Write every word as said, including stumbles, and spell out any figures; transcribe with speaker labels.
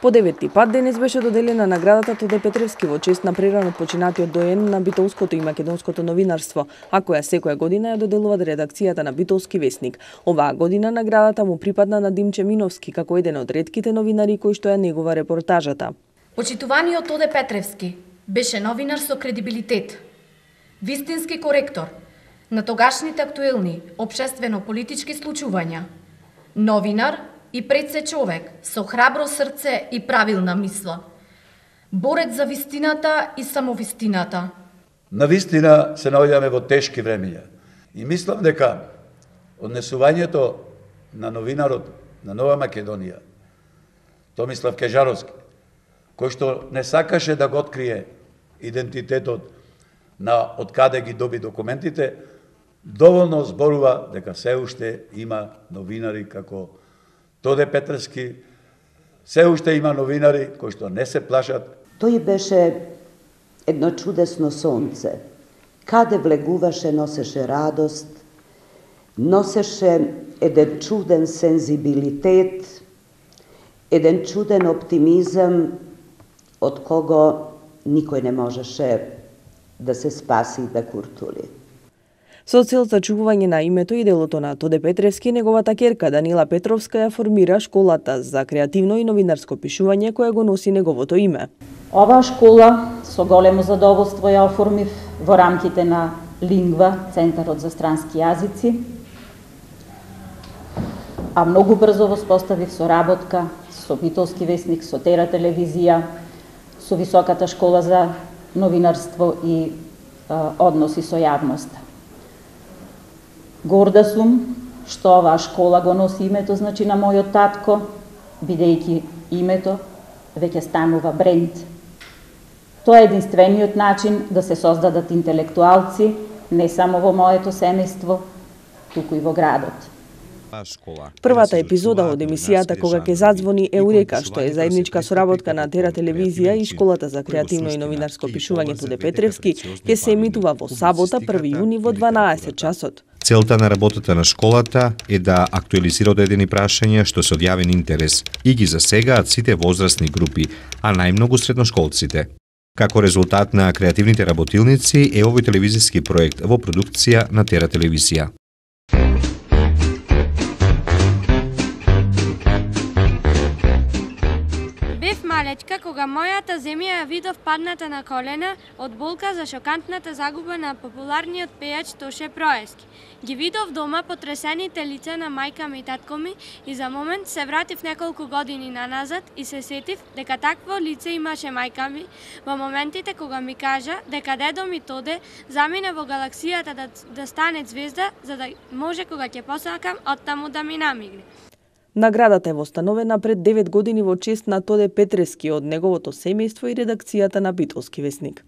Speaker 1: По деветти пат денес беше доделена наградата Тоде Петревски во чест на прерано починатиот доен на битолското и македонското новинарство, а која секоја година ја доделува редакцијата на Битолски весник. Оваа година наградата му припадна на Димче Миновски како еден од ретките новинари кои што ја негува репортажата.
Speaker 2: Почитуваниот Тоде Петревски беше новинар со кредибилитет, вистински коректор на тогашните актуелни општествено-политички случувања, новинар и пред се човек со храбро срце и правилна мисла, борец за вистината и самовистината.
Speaker 3: На вистина се наоѓаме во тешки времења и мислам дека однесувањето на новинарот на Нова Македонија, Томислав Кежаровски, кој што не сакаше да го открие идентитетот на од каде ги доби документите, доволно зборува дека се уште има новинари како Тоде Петревски, се уште има новинари кои што не се плашат.
Speaker 4: Тој беше едно чудесно сонце. Каде влегуваше, носеше радост, носеше еден чуден сензибилитет, еден чуден оптимизам од кого никој не можеше да се спаси и да куртули.
Speaker 1: Со цел зачувување на името и делото на Тоде Петревски, неговата ќерка Данила Петровска ја формира школата за креативно и новинарско пишување која го носи неговото име.
Speaker 5: Оваа школа со големо задоволство ја оформив во рамките на Лингва, Центарот за странски јазици, а многу брзо воспоставив соработка со Битолски весник, со Тера телевизија, со Високата школа за новинарство и а, односи со јавноста. Горда сум што оваа школа го носи името, значи, на мојот татко, бидејќи името веќе станува бренд. Тоа е единствениот начин да се создадат интелектуалци не само во моето семејство, туку и во градот.
Speaker 1: Првата епизода од емисијата Кога ќе задзвони Еурека, што е заедничка соработка на Тера телевизија и Школата за креативно и новинарско пишување Тоде Петревски, ќе се емитува во сабота први јуни во дванаесет часот.
Speaker 6: Целта на работата на школата е да актуализира одредени прашања што се од јавен интерес и ги засегаат сите возрастни групи, а најмногу средношколците. Како резултат на креативните работилници е овој телевизиски проект во продукција на Тера телевизија.
Speaker 7: Малечка, кога мојата земја ја видов падната на колена од болка за шокантната загуба на популарниот пејач Тоше Проески. Ги видов дома потресените лица на мајка ми и татко ми и за момент се вратив неколку години наназад и се сетив дека такво лице имаше мајка ми во моментите кога ми кажа дека дедо ми Тоде замине во галаксијата да, да стане звезда за да може кога ќе посакам оттаму да ми намигне.
Speaker 1: Наградата е востановена пред девет години во чест на Тоде Петревски од неговото семејство и редакцијата на Битолски весник.